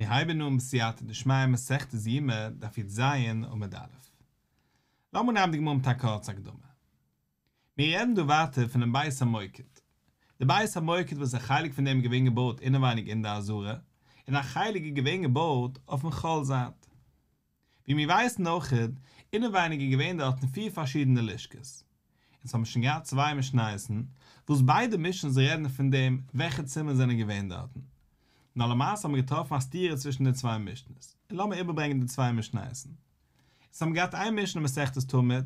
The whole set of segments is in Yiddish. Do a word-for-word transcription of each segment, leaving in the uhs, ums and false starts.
מיר הייבן אן בסייעתא דשמיא מסכת יומא דף י"ז עמוד א'. לאמיר נעמען די גמרא מיט א קורצע הקדמה. מיר רעדן דא ווייטער פונעם בית המוקד. די בית המוקד וואס א חלק פון דעם איז געווען געבויט אינעווייניג אין די עזרה, און א חלק איז געווען געבויט אויפן חול זייט. ווי מיר ווייסן אויך, אינעווייניג איז געווען דארטן פיר פארשידענע לשכות. אונז האבן שוין געהאט צוויי משניות'ן, וואס ביידע משנה'ס רעדן פון דעם וועלכע צימערן זענען געווען דארטן. נאר למעשה האבן מיר געטראפן א סתירה צווישן די צוויי משנה'ס. און לאמיר איבערברענגען די צוויי משניות'ן. אונז האבן געהאט איין משנה מסכת תמיד,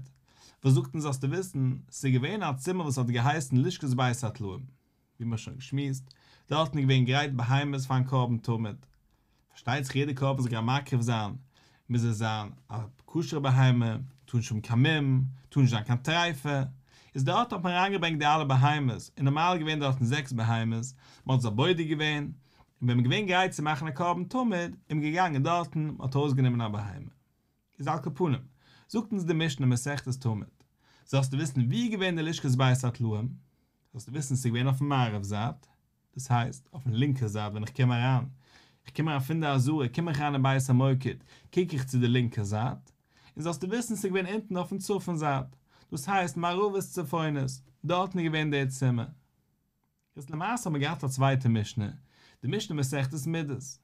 וואס זאגט אונז זאלסטו וויסן, ס'איז געווען א צימער וואס האט געהייסן לשכת בית הטלאים. ווי מ'האט שוין געשמועסט, דארטן איז געווען גרייט בהמות פארן קרבן תמיד. פארשטייט זיך יעדע קרבן וואס גייט מקריב זיין, מוז עס זיין א כשר'ע בהמה, טאר נישט האבן קיין מום, טאר נישט זיין קיין טריפה, איז דארט האט מען אריינגעברענגט די אלע בהמות, און נארמאל איז געווען דארטן זעקס בהמות, מען האט זיי בודק געווען, און ווען מען איז געווען גרייט צו מאכן א קרבן תמיד, איז מען געגאנגען דארטן, מען האט ארויסגענומען א בהמה. איז על כל פנים, זאגט אונז די משנה מסכת תמיד, זאלסטו וויסן ווי איז געווען די לשכת בית הטלאים, זאלסטו וויסן ס'איז געווען אויפן מערב זייט, דאס הייסט, אויפן לינקע זייט ווען איך קום אריין, איך קום אריין פון די עזרה, קום איך אריין אין בית המוקד, קוק איך צו די לינקע זייט, און זאלסטו וויסן ס'איז געווען אונטן אויפן צפון זייט, דאס הייסט מערבית צפונית, דארטן איז געווען דער צימער. איז למעשה האט מען געהאט א צווייטע משנה, די משנה מסכת מידות, וואס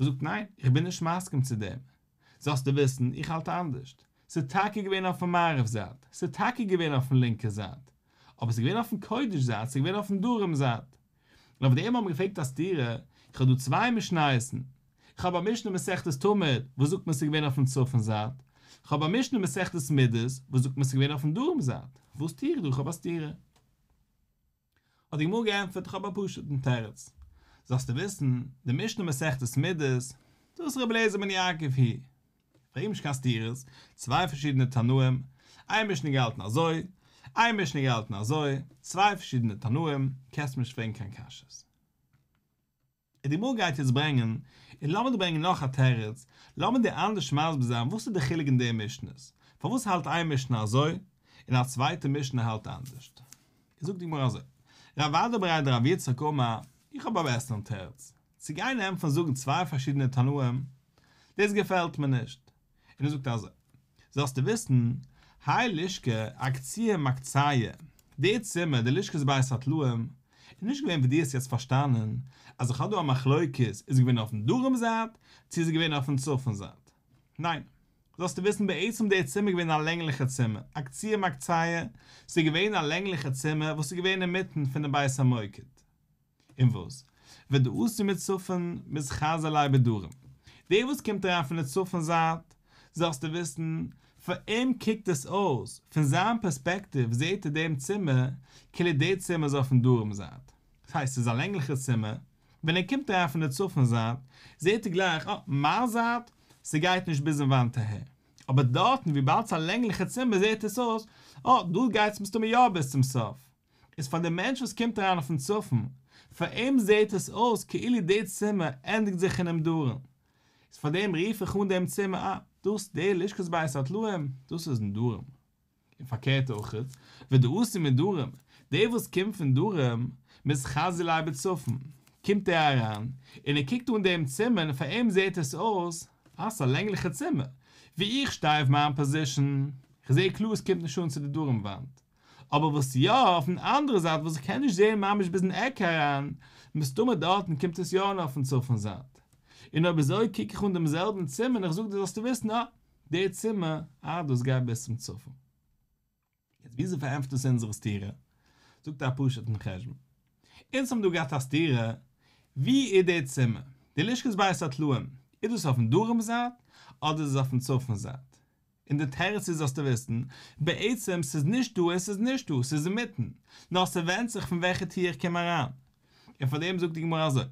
זאגט ניין, איך בין נישט מסכים צו דעם, זאלסטו וויסן, איך האלט אנדערשט, ס'איז טאקע געווען אויפן מערב זייט, ס'איז טאקע געווען אויפן לינקע זייט, אבער ס'איז געווען אויפן קודש זייט, ס'איז געווען אויפן דרום זייט. און אויף דעם האט מען געפרעגט א סתירה, איך האב דא צוויי משניות'ן, איך האב א משנה מסכת תמיד וואס זאגט מיר ס'איז געווען אויפן צפון זייט, איך האב א משנה מסכת מידות וואס זאגט מיר ס'איז געווען אויפן דרום זייט, וואס טו איך דא, איך האב א סתירה. האט די גמרא געענטפערט, איך האב א פשוט'ן תירוץ, זאלסטו וויסן, די משנה מסכת מידות, דאס איז רבי אליעזר בן יעקב היא. פרעג נישט קיין סתירות, צוויי פארשידענע תנאים, איין משנה געהאלטן אזוי, איין משנה געהאלטן אזוי, צוויי פארשידענע תנאים, קענסט מיר נישט פרעגן קיין קשיות. און די גמרא גייט יעצט ברענגען, און לאמיר דא ברענגען נאך א תירוץ, לאמיר דיר אנדערש מסביר זיין וואס איז די חילוק אין די משנה'ס, פארוואס האלט איין משנה אזוי, און א צווייטע משנה האלט אנדערשט. זאגט די גמרא אזוי, רב אדא בריה דרב יצחק אמר, איך האב א בעסערן תירוץ, צו גיין ענטפערן זאגן צוויי פארשידענע תנאים, דאס געפעלט מיר נישט. און ער זאגט אזוי, זאלסטו וויסן, האי לשכה אקציי מקציי, די צימער, די לשכת בית הטלאים, איז נישט געווען ווי דו האסט יעצט פארשטאנען, אז איך האב דא א מחלוקת, איז געווען אויפן דרום זייט, צו איז געווען אויפן צפון זייט. ניין. זאלסטו וויסן בעצם די צימער איז געווען א לענגליכע צימער, אקציי מקציי, ס'איז געווען א לענגליכע צימער וואס איז געווען אינמיטן פונעם בית המוקד. און וואס? ודאתי מצפון מתחזי ליה בדרום. דער וואס קומט אריין פון די צפון זייט, זאלסטו וויסן, פאר אים קוקט עס אויס, פון זיין פערספעקטיוו זעט ער דעם צימער, כאילו דער צימער איז אויפן דרום זייט. דאס הייסט ס'איז א לענגליכע צימער, ווען ער קומט אריין פון די צפון זייט, זעט ער גלייך, אה, מיין זייט, ס'גייט נישט ביזן וואנט אהער. אבער דארטן וויבאלד ס'איז א לענגליכע צימער זעט עס אויס, אה, דא גייט עס מסתמא יא ביז צום סוף. איז פאר די מענטש וואס קומט אריין אויפן צפון, פאר אים זעהט עס אויס כאילו די צימער ענדיגט זיך אינעם דרום, איז פאר דעם רוף איך אן דעם צימער אה, דאס די לשכת בית הטלאים, דאס איז אין דרום. און פארקערט אויך, ודאתי מדרום, דער וואס קומט פון דרום, מתחזי ליה בצפון, קומט ער אריין, און ער קוקט אן דעם צימער און פאר אים זעהט עס אויס, אה, ס'איז א לענגליכע צימער, ווי איך שטיי אויף מיין פאזישאן, כ'זעה קלאר עס קומט נישט אן צו די דרום וואנט. אבער וואס יא, אויפן אנדערע זייט וואס איך קען נישט זעהן ממש ביזן עק אריין, מסתמא דארטן קומט עס יא אן אויפן צפון זייט. און אויב אזוי קוק איך אן דעם זעלבן צימער און איך זאג דיר זאלסטו וויסן אה, דער צימער, אה דאס גייט ביז צום צפון. יעצט וויאזוי פארענטפערט דאס אונזערע סתירה? זאגט ער א פשוט'ן חשבון. אונז האבן דא געהאט א סתירה, ווי איז דער צימער? די לשכת בית הטלאים, איז דאס אויפן דרום זייט אדער איז עס אויפן צפון זייט? און די תירוץ איז זאלסטו וויסן, בעצם ס'איז נישט דא און ס'איז נישט דא, ס'איז אינמיטן, נאר ס'ווענדט זיך פון וועלכע טיר איך קום אריין. און פאר דעם זאגט די גמרא אזוי,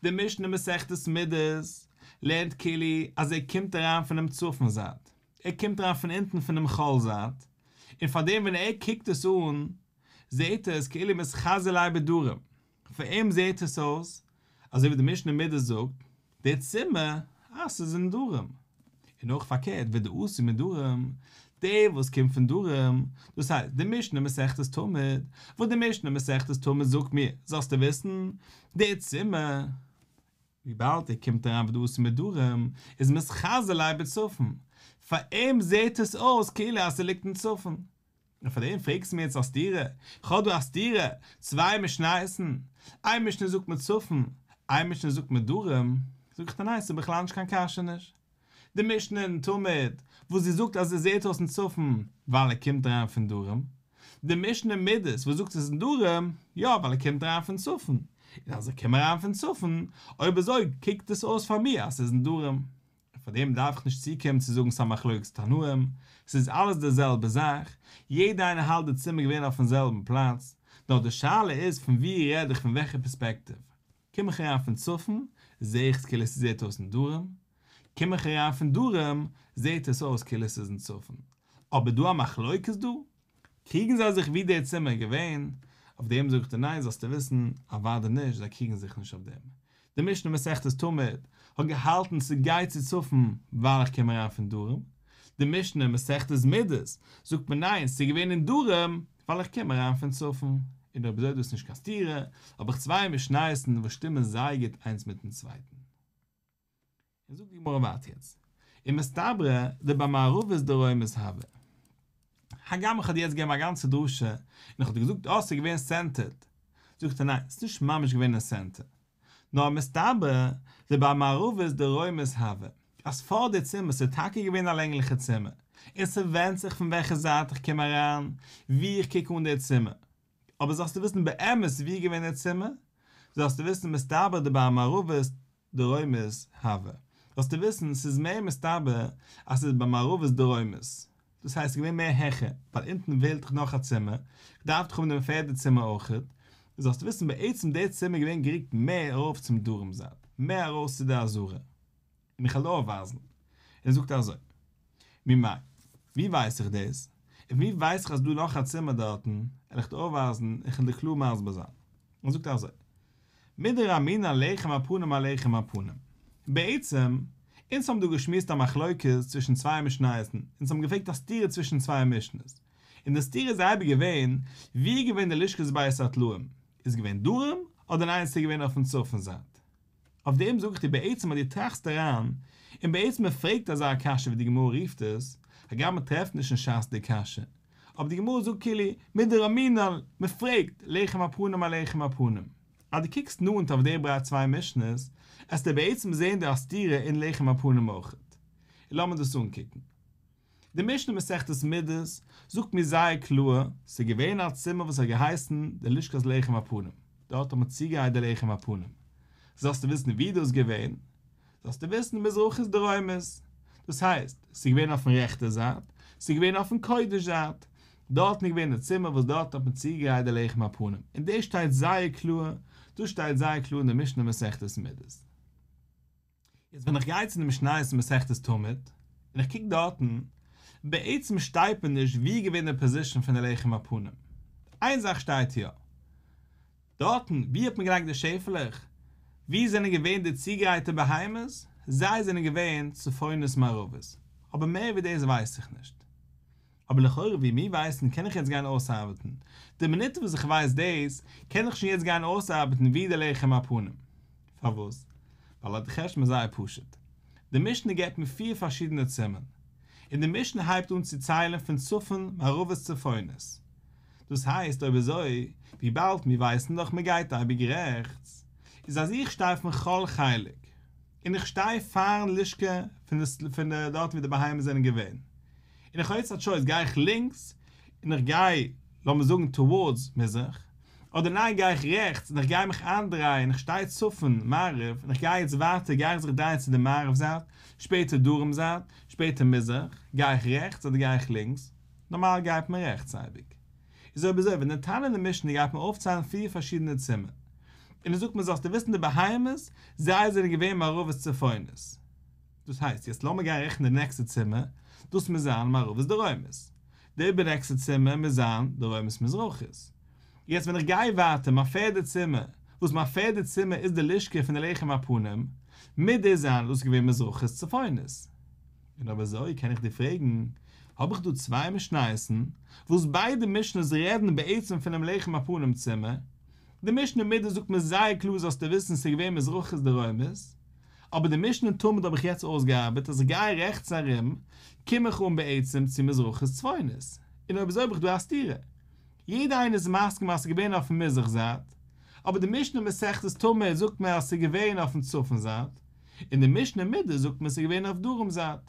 די משנה מסכת מידות לערנט כאילו אז ער קומט אריין פונעם צפון זייט, ער קומט אריין פון אונטן פונעם חול זייט, און פאר דעם ווען ער קוקט עס אן זעהט ער עס כאילו מתחזי ליה בדרום, פאר אים זעהט עס אויס אזוי ווי די משנה מידות זאגט, די צימער, אה ס'איז אין דרום. און אויך פארקערט ודאתי מדרום, דער וואס קומט פון דרום, דאס הייסט די משנה מסכת תמיד, וואס די משנה מסכת תמיד זאגט מיר, זאלסטו וויסן, די צימער, וויבאלד ער קומט אריין ודאתי מדרום, איז מתחזי ליה בצפון, פאר אים זעט עס אויס כאילו אז ס'ליגט אין צפון. און פאר דעם פרעגסטו מיר יעצט א סתירה? איך האב דא א סתירה, צוויי משניות'ן, איין משנה זאגט מיר צפון, איין משנה זאגט מיר דרום, זאג איך דיר ניין, ס'איז בכלל נישט קיין קשיא נישט. די משנה אין תמיד, וואס זי זאגט אז עס זעט אויס אין צפון, ווייל ער קומט אריין פון דרום. די משנה אין מידות, וואס זאגט עס איז אין דרום, יא, ווייל ער קומט אריין פון צפון. און אז ער קומט אריין פון צפון, אויב אזוי קוקט עס אויס פאר מיר אז ס'איז אין דרום. פאר דעם דארף איך נישט צוקומען צו זאגן ס'איז א מחלוקת תנאים, ס'איז אלעס די זעלבע זאך, יעדע איינער האלט די צימער געווען אויפן זעלבן פלאץ, נאר די שאלה איז פון ווי רעד איך פון וועלכע פערספעקטיוו. קום איך אריין פון צפון, זעה איך עס כאילו עס זעט אויס אין דרום, קום איך אריין פון דרום, זעט עס אויס כאילו עס איז אין צפון. אבער דא א מחלוקת דא? קריגן זיי זיך ווי דער צימער איז געווען? אויף דעם זאגט ער ניין זאלסטו וויסן, אוודאי נישט, זיי קריגן זיך נישט אויף דעם. די משנה מסכת תמיד האט געהאלטן ס'גייט צו צפון ווייל איך קום אריין פון דרום, די משנה מסכת מידות זאגט מיר ניין ס'איז געווען אין דרום ווייל איך קום אריין פון צפון, און אויב אזוי איז דאס נישט קיין סתירה, האב איך צוויי משניות'ן וואס שטימען זייער גוט איינס מיטן צווייטן. און זאגט די גמרא ווייטער יעצט, ומסתברא דבמערבית דרומית הוה. הגם איך האב דיר יעצט געגעבן א גאנצע דרשה, און איך האב דיר געזאגט אה ס'איז געווען סענטערד, זאגט ער ניין, ס'איז נישט ממש געווען אין סענטער, נאר מסתברא דבמערבית דרומית הוה, אז פאר די צימער ס'איז טאקע געווען א לענגליכע צימער, און ס'ווענדט זיך פון וועלכע זייט איך קום אריין, ווי איך קוק אן די צימער. אבער זאלסטו וויסן באמת ווי איז געווען די צימער, זאלסטו וויסן מסתברא דבמערבית דרומית הוה, זאלסטו וויסן ס'איז מער מסתבר אז ס'איז במערבית דרומית, דאס הייסט ס'איז געווען מער העכער, ווייל אונטן פעלט דאך נאך א צימער, כ'דארף דאך האבן דעם פערדע צימער אויכעט, זאלסטו וויסן בעצם די צימער איז געווען גערוקט מער ארויף צום דרום זייט, מער ארויס צו די עזרה. און איך וועל דיר אויפווייזן. און ער זאגט אזוי, ממאי, ווי ווייס איך דאס? און ווי ווייס איך אז ס'דא נאך א צימער דארטן? וועל איך דיר אויפווייזן, איך וועל דיר קלאר מסביר זיין. ער זאגט אזוי, מדרמינן לחם הפנים אלחם הפנים. בעצם, אונז האבן דא געשמועסט א מחלוקת צווישן צוויי משניות'ן, אונז האבן געפרעגט א סתירה צווישן צוויי משנה'ס, און די סתירה איז אייביג געווען, ווי איז געווען די לשכת בית הטלאים? איז געווען דרום, אדער ניין ס'איז געווען אויפן צפון זייט? אויף דעם זאג איך דיר בעצם אז דו טראכסט אריין, און בעצם מען פרעגט אזא קשיא ווי די גמרא רופט עס, הגם מען טרעפט נישט אין ש"ס די קשיא, אבער די גמרא זאגט כאילו מדרמינן, מען פרעגט, לחם הפנים אלחם הפנים. אז דו קוקסט נאנט אויף די בריי צוויי משנה'ס, עסטו בעצם זעהן דא א סתירה אין לחם הפנים אויכעט. און לאמיר דאס אנקוקן. די משנה מסכת מידות זאגט מיר זייער קלאר, ס'איז געווען א צימער וואס האט געהייסן די לשכת לחם הפנים, דארט האט מען צוגעגרייט די לחם הפנים. זאלסטו וויסן ווי דאס איז געווען, זאלסטו וויסן מזרחית דרומית, דאס הייסט, ס'איז געווען אויפן רעכטע זייט, ס'איז געווען אויפן קודש זייט, דארטן איז געווען די צימער וואס דארט האט מען צוגעגרייט די לחם הפנים, און דאס שטייט זייער קלאר, דאס שטייט זייער קלאר אין די משנה מסכת מידות. יעצט ווען איך גיי צו די משניות אין מסכת תמיד, און איך קוק דארטן, בעצם שטייט מיר נישט ווי איז געווען די פאזישאן פון די לחם הפנים. איין זאך שטייט יא. דארטן, ווי האט מען געלייגט די שעפעלעך? ווי זענען געווען די צוגרייטע בהמות? זיי זענען געווען צפונית מערבית. אבער מער ווי דאס ווייס איך נישט. אבער לכאורה ווי מיר ווייסן קען איך יעצט גיין אויסארבעטן. די מינוט וואס איך ווייס דאס, קען איך שוין יעצט גיין אויסארבעטן ווי די לחם הפנים. פארוואס? ווייל די חשבון איז זייער פשוט. די משנה געבט מיר פיר פארשידענע צימערן. און די משנה הייבט אן צו ציילן פון צפון מערבית צפונית. דאס הייסט אויב אזוי, וויבאלד מיר ווייסן דאך מען גייט אייביג רעכטס, איז אז איך שטיי אויפן חול חלק, און איך שטיי פארן לשכה פון די דארט ווי די בהמות זענען געווען, און איך האב יעצט א טשויס גיי איך לינקס און איך גיי לאמיר זאגן טאווארדס מזרח, אדער ניין גיי איך רעכטס און איך גיי מיך איינדרייען איך שטיי צפון מערב און איך גיי יעצט ווייטער גיי איך זיך דרייען צו די מערב זייט, שפעטער דרום זייט, שפעטער מזרח, גיי איך רעכטס אדער גיי איך לינקס? נארמאל גייט מען רעכטס אייביג. איז אויב אזוי ווען די תנא אין די משנה גייט מיר אויפציילן פיר פארשידענע צימער, און ער זאגט מיר זאלסטו וויסן די בהמות זיי זענען געווען מערבית צפונית, דאס הייסט, יעצט לאמיר גיין רעכענען די נעקסטע צימער, דאס מוז זיין מערבית דרומית. די איבערנעקסטע צימער מוז זיין דרומית מזרחית. יעצט ווען איך גיי ווייטער, מיין פערדע צימער, וואס מיין פערדע צימער איז די לשכה פון די לחם הפנים, מוז דאס זיין דאס איז געווען מזרחית צפונית. און אויב אזוי קען איך דיר פרעגן, האב איך דא צוויי משניות'ן, וואס ביידע משנה'ס רעדן בעצם פונעם לחם הפנים צימער, די משנה מידות זאגט מיר זייער קלאר זאלסטו וויסן ס'איז געווען מזרחית דרומית, אבער די משנה תמיד האב איך יעצט אויסגעארבעט אז איך גיי רעכטס ארום, קום איך אן בעצם צו מזרחית צפונית. און אויב אזוי האב איך דא א סתירה. יעדער איינער איז מסכים אז ס'איז געווען אויפן מזרח זייט, אבער די משנה מסכת תמיד זאגט מיר אז ס'איז געווען אויפן צפון זייט, און די משנה מידות זאגט מיר ס'איז געווען אויף דרום זייט.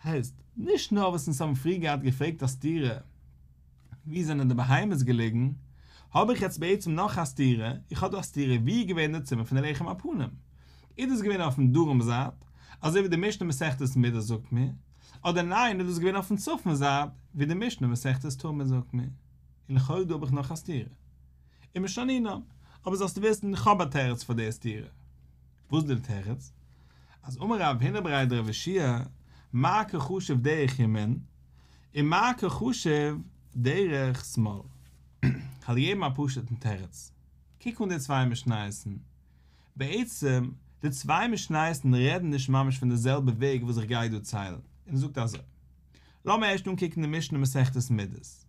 הייסט, נישט נאר וואס אונז האבן פריער געהאט געפרעגט א סתירה, ווי זענען די בהמות געליגן, האב איך יעצט בעצם נאך א סתירה, איך האב דא א סתירה ווי איז געווען די צימער פון די לחם הפנים? איז דאס געווען אויפן דרום זייט, אזוי ווי די משנה מסכת מידות זאגט מיר, אדער ניין איז דאס געווען אויפן צפון זייט, ווי די משנה מסכת תמיד זאגט מיר? און לכאורה דא האב איך נאך א סתירה. ומשנינן, אבער זאלסטו וויסן איך האב א תירוץ פאר די סתירה. וואס איז די תירוץ? אז אמר רב הונא בריה דרב יהושע, מר קא חשיב דרך ימין, און מר קא חשיב דרך שמאל. כ'וועל געבן א פשוט'ן תירוץ. קוק אן די צוויי משניות'ן. בעצם, די צוויי משניות'ן רעדן נישט ממש פון די זעלבע וועג וואס איך גיי דא ציילן. און ער זאגט אזוי. לאמיר ערשט אנקוקן די משנה מסכת מידות.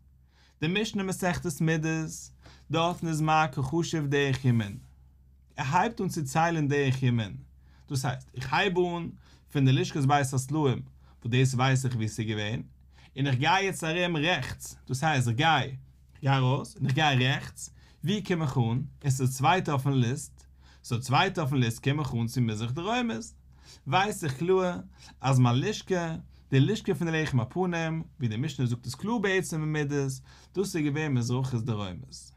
די משנה מסכת מידות, דארטן איז מר קא חשיב דרך ימין. ער הייבט אן צו ציילן דרך ימין. דאס הייסט, איך הייב אן פון די לשכת בית הסלעים, וואס דאס ווייס איך וואו ס'איז געווען, און איך גיי יעצט ארום רעכטס, דאס הייסט איך גיי, איך גיי ארויס און איך גיי רעכטס, וואו קום איך אן? עס איז צווייטע אויפן ליסט, סאו צווייטע אויפן ליסט קום איך אן צו מזרח דרומית, ווייס איך קלאר אז מיין לשכה, די לשכה פון די לחם הפנים, ווי די משנה זאגט עס קלאר בעצם אין מידות, דאס איז געווען מזרחית דרומית.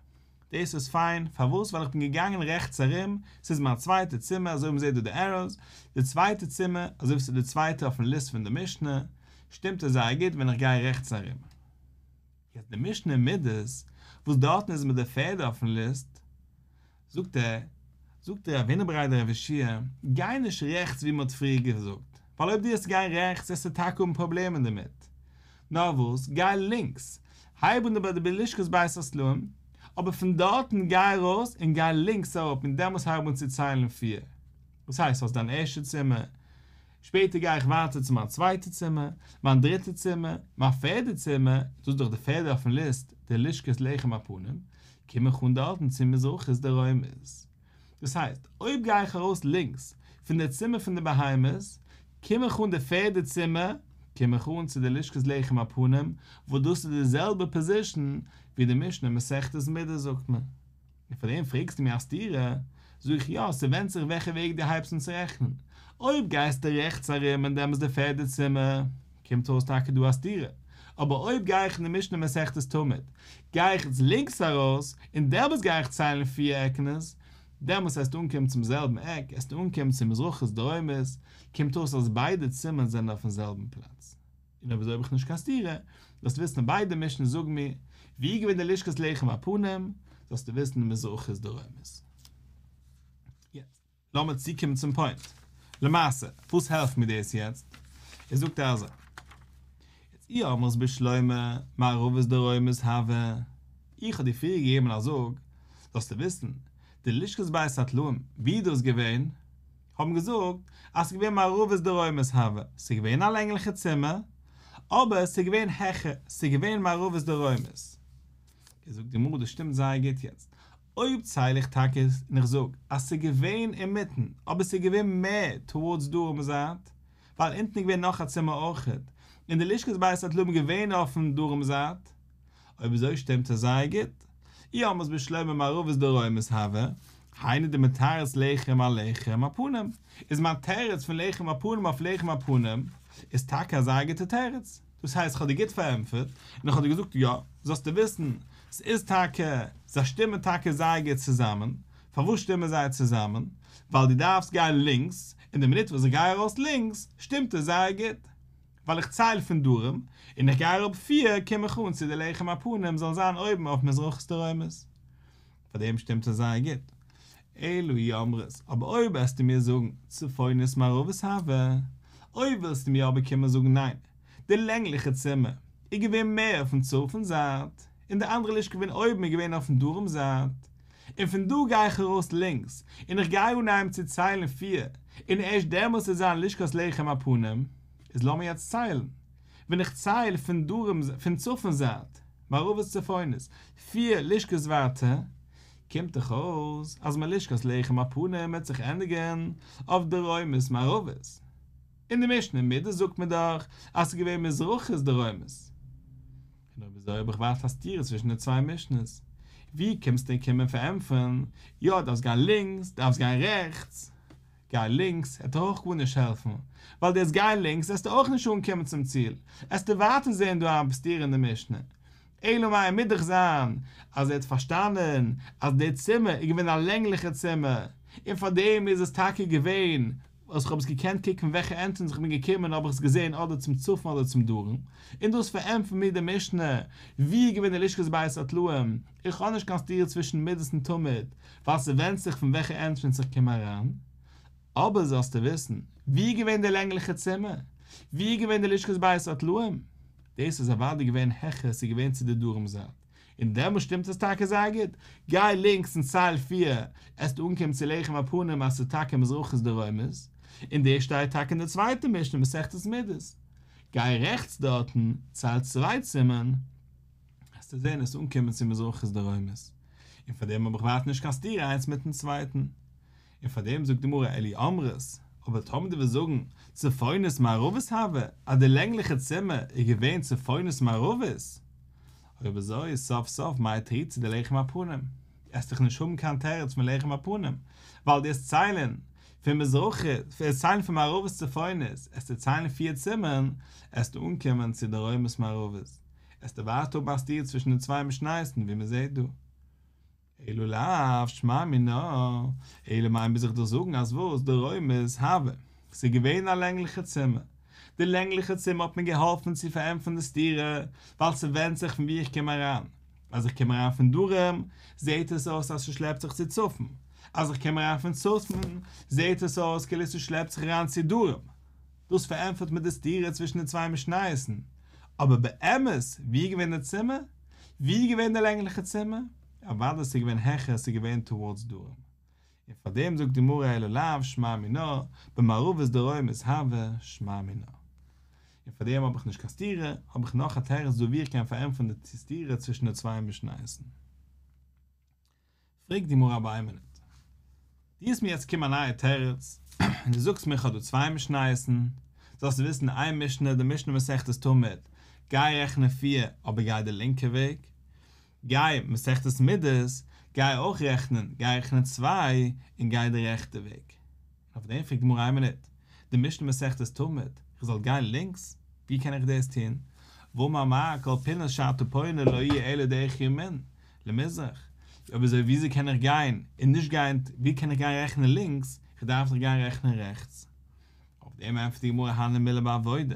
דאס איז פיין, פארוואס? ווייל איך בין געגאנגען רעכטס ארום, ס'איז מיין צווייטע צימער, אזוי ווי מ'זעט דא די עראוס, די צווייטע צימער, אזוי ווי ס'איז די צווייטע אויפן ליסט פון די משנה, שטימט עס זייער גוט ווען איך גיי רעכטס ארום. יעצט די משנה אין מידות, וואס דארטן איז מיט די פערדע אויפן ליסט, זאגט ער, זאגט רב הונא בריה דרב יהושע, גיי נישט רעכטס ווי מ'האט פריער געזאגט, ווייל אויב דו וועסט גיין רעכטס וועסטו טאקע האבן פראבלעמען דערמיט, נאר וואס, גיי לינקס, הייב אן ביי די לשכת בית הסלעים, אבער פון דארטן גיי ארויס און גיי לינקס אראפ און דעמאלס הייב אן צו ציילן פיר. דאס הייסט האסט דיין ערשטע צימער, שפעטער גיי איך ווייטער צו מיין צווייטע צימער, מיין דריטע צימער, מיין פערדע צימער, דאס איז דאך די פערדע אויפן ליסט, די לשכת לחם הפנים, קום איך אן דארטן צו מזרחית דרומית. דאס הייסט, אויב גיי איך ארויס לינקס פון די צימער פון די בהמות, קום איך אן די פערדע צימער, קום איך אן צו די לשכת לחם הפנים, וואס דאס איז די זעלבע פאזישן ווי די משנה מסכת מידות זאגט מיר. און פאר דעם פרעגסטו מיר א סתירה? זאג איך יא, ס'ווענדט זיך וועלכע וועג דו הייבסט אן צו רעכענען. אויב גייסטו רעכטס ארום און דעמאלס די פערדע צימער, קומט אויס טאקע דא א סתירה. אבער אויב גיי איך אין די משנה מסכת תמיד, גיי איך יעצט לינקס ארויס, און דעמאלס גיי איך ציילן פיר עקענעס, דעמאלס וועסטו אנקומען צום זעלבן עק, וועסטו אנקומען צו מזרחית דרומית, קומט אויס אז ביידע צימערן זענען אויפן זעלבן פלאץ. און אויב אזוי האב איך נישט קיין סתירה, זאלסטו וויסן ביידע משניות זאגן מיר, ווי איז געווען די לשכת לחם הפנים, זאלסטו וויסן מזרחית דרומית. יעצט לאמיר צוקומען צום פוינט. למעשה, וואס העלפט מיר דאס יעצט? ער זאגט אזוי, יעצט אי אמרת בשלמא מערבית דרומית הוה, איך האב דיר פריער געגעבן א זאג, זאלסטו וויסן, די לשכת בית הטלאים, ווי איז דאס געווען? האבן געזאגט אז ס'איז געווען מערבית דרומית הוה, ס'איז געווען א לענגליכע צימער, אבער ס'איז געווען העכער, ס'איז געווען מערבית דרומית. איז זאגט די גמרא דאס שטימט זייער גוט יעצט, אויב צייל איך טאקע און איך זאג אז ס'איז געווען אינמיטן, אבער ס'איז געווען מער טאווארדס דרום זייט, ווייל אונטן איז געווען נאך א צימער אויכעט, און די לשכת בית הטלאים איז געווען אויפן דרום זייט, אויב אזוי שטימט עס זייער גוט. אי אמרת בשלמא מערבית דרומית הוה, היינו דמתרץ לחם על לחם הפנים, איז מיין תירוץ פון לחם הפנים אויף לחם הפנים איז טאקע א זייער גוטע תירוץ. דאס הייסט כ'האב דיר גוט פארענטפערט, און איך האב דיר געזאגט יא, זאלסטו וויסן, ס'איז טאקע, זיי שטימען טאקע זייער גוט צוזאמען. פארוואס שטימען זיי צוזאמען? ווייל דו דארפסט גיין לינקס, און די מינוט וואס איך גיי ארויס לינקס, שטימט עס זייער גוט. ווייל איך צייל פון דרום, און איך גיי אראפ פיר, קום איך אן צו די לחם הפנים זאל זיין אויבן אויף מזרחית דרומית. פאר דעם שטימט עס זייער גוט. אלא אי אמרת, אבער אויב וועסטו מיר זאגן צפונית מערבית הוה, אויב ווילסטו מיר אבער קומען זאגן ניין, די לענגליכע צימער איז געווען מער אויפן צפון זייט, און די אנדערע לשכה געווען אויבן איז געווען אויפן דרום זייט, און פון דא גיי איך ארויס לינקס, און איך גיי אנהייבן צו ציילן פיר, און ערשט דעמאלס וועט זיין לשכת לחם הפנים, איז לאמיר יעצט ציילן. ווען איך צייל פון דרום פון צפון זייט, מערבית צפונית, פיר לשכות ווייטער, קומט דאך אויס אז מלשכת לחם הפנים וועט זיך ענדיגן אויף דרומית מערבית. אין די משנה מידות זאגט מען דאך אז ס'איז געווען מזרחית דרומית. און אויב אזוי האב איך ווייטער א סתירה צווישן די צוויי משנה'ס. ווי קומסטו און קומען פארענטפערן, יא דארפסט גיין לינקס, דארפסט גיין רעכטס. גיי לינקס עט אויך גארנישט העלפן, ווייל דו עסט גיין לינקס עסטו אויך נישט אנקומען צום ציל, עסטו ווייטער זען דא א סתירה אין די משנה. אלא מאי מוז דאך זיין אז ער האט פארשטאנען אז די צימער איז געווען א לענגליכע צימער, און פאר דעם איז עס טאקע געווען וואס כ'האב עס געקענט קוקן וועלכע ענטרענס איך בין געקומען האב איך עס געזען אדער צום צפון אדער צום דרום, און דאס פארענטפערט מיר די משנה ווי איז געווען די לשכת בית הטלאים, איך האב נישט קיין סתירה צווישן מידות און תמיד, ווייל ס'ווענדט זיך פון וועלכע ענטרענס איך קום אריין. אבער זאלסטו וויסן, ווי איז געווען די לענגליכע צימער? ווי איז געווען די לשכת בית הטלאים? דאס איז אוודאי געווען העכער, ס'איז געווען צו די דרום זייט. און דעמאלט שטימט עס טאקע זייער גוט. גיי לינקס און צייל פיר, עסטו אנקומען צו לחם הפנים אז ס'איז טאקע מזרחית דרומית. און דאס שטייט טאקע אין די צווייטע משנה מסכת מידות. גיי רעכטס דארטן, צייל צוויי צימערן, עסטו זען עסט אנקומען צו מזרחית דרומית. און פאר דעם האב איך ווייטער נישט קיין סתירה איינס מיטן צווייטן. און פאר דעם זאגט די גמרא אלא אי אמרת, אבער טאמער דו וועסט זאגן צפונית מערבית הוה, אז די לענגליכע צימער איז געווען צפונית מערבית, אויב אזוי איז סוף סוף מאי תרוצה דלחם הפנים, עסט דאך נישט האבן קיין תירוץ פון לחם הפנים, ווייל דו עסט ציילן פון מזרחית, עסט ציילן פון מערבית צפונית, עסטו ציילן פיר צימערן, עסטו אנקומען צו דרומית מערבית, עסטו ווייטער האבן א סתירה צווישן די צוויי משניות'ן ווי מען זעט דא. אלא לאו שמע מינה, אלא מאי מוז איך דיר זאגן אז וואס, דרומית הוה, ס'איז געווען א לענגליכע צימער, די לענגליכע צימער האט מיר געהאלפן צו פארענטפערן די סתירה, ווייל ס'ווענדט זיך פון וואו איך קום אריין, אז איך קום אריין פון דרום, זעט עס אויס אז ס'שלעפט זיך צו צפון, אז איך קום אריין פון צפון, זעט עס אויס כאילו ס'שלעפט זיך אריין צו דרום. דאס פארענטפערט מיר די סתירה צווישן די צוויי משניות'ן. אבער באמת, וואו איז געווען די צימער? וואו איז געווען די לענגליכע צימער? אוודאי ס'איז געווען העכער, ס'איז געווען טאווארדס דרום. און פאר דעם זאגט די גמרא אלא לאו שמע מינה, במערבית דרומית הוה שמע מינה. און פאר דעם האב איך נישט קיין סתירה, האב איך נאך א תירוץ דא ווי איך קען פארענטפערן די סתירה צווישן די צוויי משניות'ן. פרעגט די גמרא אבער איין מינוט. דו האסט מיר יעצט געקומען א נייע תירוץ, און דו זאגסט מיר איך האב דא צוויי משניות'ן, זאלסטו וויסן איין משנה, די משנה מסכת תמיד, גיי רעכענען פיר, אבער גיי די לינקע וועג, גיי מסכת מידות, גיי אויך רעכענען, גיי רעכענען צוויי, און גיי די רעכטע וועג. און אויף דעם פרעגט די גמרא איין מינוט, די משנה מסכת תמיד, איך זאל גיין לינקס? ווי קען איך דאס טון? והאמר מר כל פינות שאתה פונה לא יהיה אלא דרך ימין למזרח, אויב אזוי וויאזוי קען איך גיין און נישט גיין, ווי קען איך גיין רעכענען לינקס, איך דארף דאך גיין רעכענען רעכטס. אויף דעם ענטפערט די גמרא הני מילי בעבודה,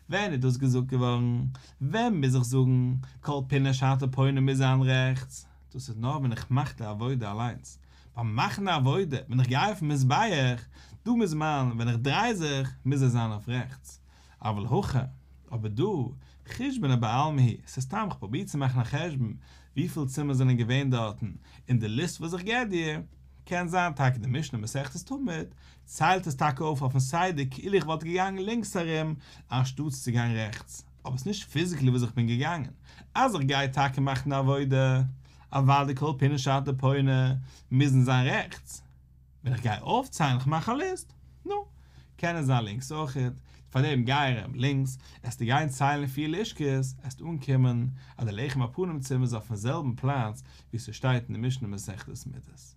ווען איז דאס געזאגט געווארן? ווען מוז איך זאגן כל פינה שאתה פונה מוז זיין רעכטס? דאס איז נאר ווען איך מאך די עבודה אליינס, ביים מאכן די עבודה ווען איך גיי אויפן מזבח, דא מוז מיין ווען איך דריי זיך מוז עס זיין אויף רעכטס, אבל הכא, אבער דא, חושבנא בעלמא הוא, ס'איז סתם איך פרוביר צו מאכן א חשבון וויפיל צימער זענען געווען דארטן אין די ליסט וואס איך געב דיר, קען זיין טאקע די משנה מסכת תמיד ציילט עס טאקע אויף אויפן סדר כאילו איך וואלט געגאנגען לינקס ארום אנשטאטס צו גיין רעכטס, אבער ס'נישט פיזיקלי וואס איך בין געגאנגען, אז איך גיי טאקע מאכן די עבודה, אוודאי כל פינה שאתה פונה מוזן זיין רעכטס. ווען איך גיי אויפציילן איך מאך א ליסט, נו, קען עס זיין לינקס אויכעט, פארדעם גיי ארום לינקס, עסטו גיין ציילן פיר לשכות, עסטו אנקומען אז די לחם הפנים צימער איז אויפן זעלבן פלאץ ווי ס'שטייט אין די משנה מסכת מידות.